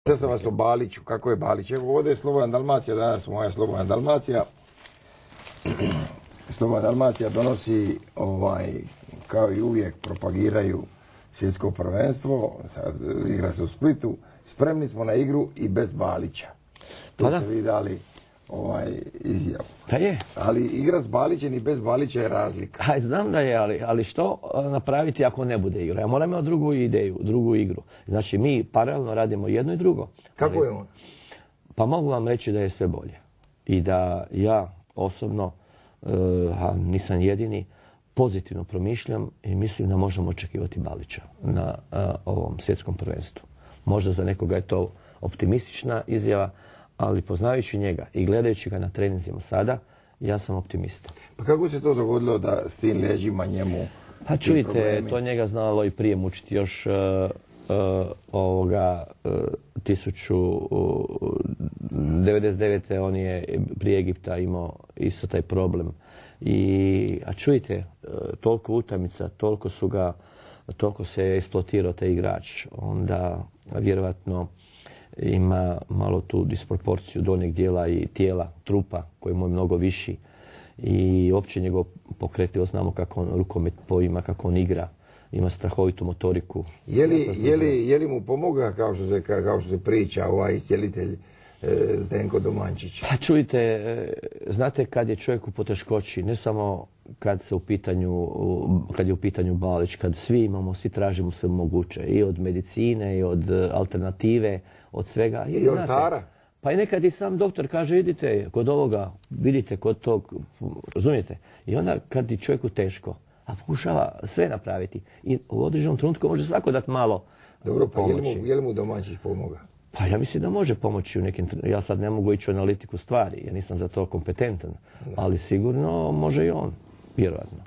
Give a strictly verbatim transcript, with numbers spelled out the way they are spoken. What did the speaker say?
Pitao sam vas o Baliću, kako je Balić? Evo ovdje je Slobodna Dalmacija, danas moja Slobodna Dalmacija. Slobodna Dalmacija donosi, ovaj, kao i uvijek, propagiraju svjetsko prvenstvo, sad igra se u Splitu. Spremni smo na igru i bez Balića. To Pa ste vi dali ovaj, izjavu. Pa je. Ali igra s Balićem i bez Balića je razlika. Aj, znam da je, ali, ali što napraviti ako ne bude igra? Ja moram imati drugu ideju, drugu igru. Znači, mi paralelno radimo jedno i drugo. Kako ali, je on? Pa mogu vam reći da je sve bolje. I da ja osobno, a nisam jedini, pozitivno promišljam i mislim da možemo očekivati Balića na a, ovom svjetskom prvenstvu. Možda za nekoga je to optimistična izjava, ali poznajući njega i gledajući ga na treninzima sada, ja sam optimista. Pa kako se to dogodilo da s tim leđima njemu... Pa čujte, to njega znalo i prije mučiti. Još uh, uh, ovoga uh, tisuću devedeset devete. on je prije Egipta imao isto taj problem. I, a čujte, uh, toliko utakmica, toliko su ga, toliko se je eksploatirao taj igrač. Onda vjerovatno ima malo tu disproporciju donjeg dijela i tijela, trupa, koji mu je mnogo viši. I uopće njegov pokretljivo, znamo kako on rukomet poima, kako on igra. Ima strahovitu motoriku. Je li, je li, je li mu pomoga, kao što se, kao što se priča, ovaj iscijelitelj Zdenko Domančić? Pa čujte, znate kad je čovjek u poteškoći, ne samo kad se u pitanju, kad je u pitanju Balić, kad svi imamo, svi tražimo sve moguće, i od medicine, i od alternative, od svega. I od oltara. Pa i nekad i sam doktor kaže, idite kod ovoga, vidite kod tog, razumijete? I onda kad je čovjeku teško, a pokušava sve napraviti, i u određenom trenutku može svako dati malo Dobro, pa pomoći. je li mu, je li mu Domančić pomoga? Pa ja mislim da može pomoći u nekim... Ja sad ne mogu ići u analitiku stvari, ja nisam za to kompetentan, ali sigurno može i on, vjerojatno.